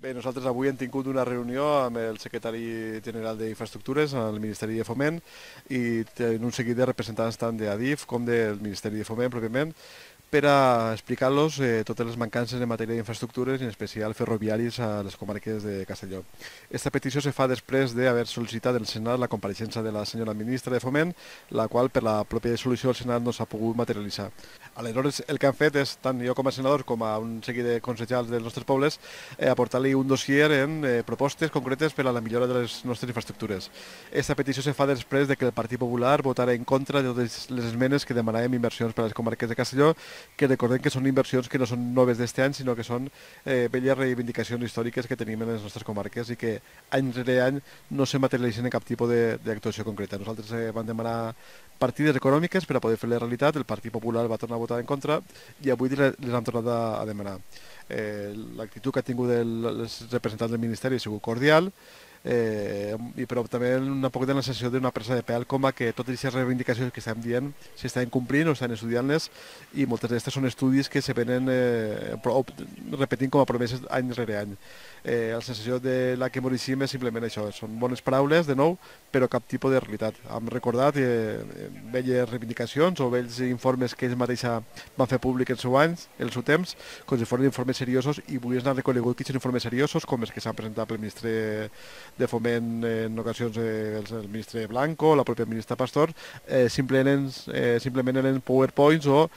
Bé, nosaltres avui hem tingut una reunió amb el secretari general d'Infraestructures al Ministeri de Foment i un seguit de representants tant d'Adif com del Ministeri de Foment pròpiament per a explicar-los totes les mancances en matèria d'infraestructures i en especial ferroviaris a les comarques de Castelló. Esta petició se fa després d'haver sol·licitat al Senat la compareixença de la senyora ministra de Foment, la qual per la pròpia solució del Senat no s'ha pogut materialitzar. Aleshores, el que han fet és, tant jo com a senador com a un seguit de consellers dels nostres pobles, aportar-li un dossier en propostes concretes per a la millora de les nostres infraestructures. Aquesta petició se fa després de que el Partit Popular votara en contra de totes les esmenes que demanàvem inversions per a les comarques de Castelló, que recordem que són inversions que no són noves d'este any, sinó que són velles reivindicacions històriques que tenim en les nostres comarques i que any rere any no se materialitzen en cap tipus d'actuació concreta. Nosaltres vam demanar partides econòmiques per a poder fer la realitat, el Partit Popular va tornar a votar en contra i avui les han tornat a demanar. L'actitud que ha tingut els representants del Ministeri ha sigut cordial, però també un poc de la sensació d'una presa de pèl com a que totes aquestes reivindicacions que estem dient s'estan complint o estan estudiant-les i moltes d'aquestes són estudis que se venen repetint com a promeses any rere any. La sensació de la que morixim és simplement això, són bones paraules de nou, però cap tipus de realitat. Hem recordat velles reivindicacions o vells informes que ells mateixa van fer públic en el seu temps, com si foren informes seriosos, i avui s'han reconegut que són informes seriosos, com els que s'han presentat pel ministre de Foment en ocasions, el ministre Blanco, la pròpia ministra Pastor, simplement eren PowerPoints o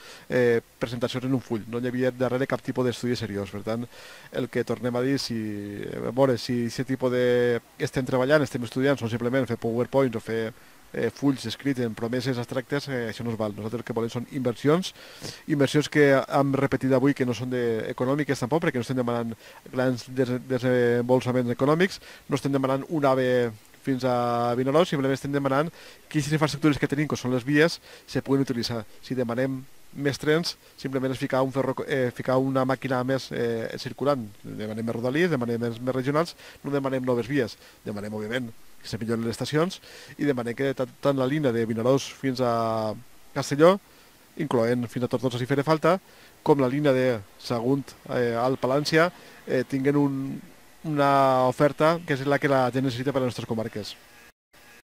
presentacions en un full. No hi havia darrere cap tipus d'estudi seriós. Per tant, el que tornem a dir, si aquest tipus estem treballant, estem estudiant, són simplement fer PowerPoints o fer fulls escrits en promeses abstractes, això no es val. Nosaltres el que volem són inversions que hem repetit avui que no són econòmiques tampoc, perquè no estem demanant grans desembolsaments econòmics, no estem demanant un AVE fins a Vinaròs, simplement estem demanant que aquestes infraestructures que tenim, que són les vies, se puguin utilitzar. Si demanem més trens, simplement és ficar una màquina més circulant. Demanem més rodalies, demanem més regionals, no demanem noves vies. Demanem, òbviament, que se milloren les estacions i demanem que tant la línia de Vinaròs fins a Castelló, incloent fins a Tortosa si farà falta, com la línia de Sagunt al Palància, tinguen una oferta que és la que la gent necessita per a les nostres comarques.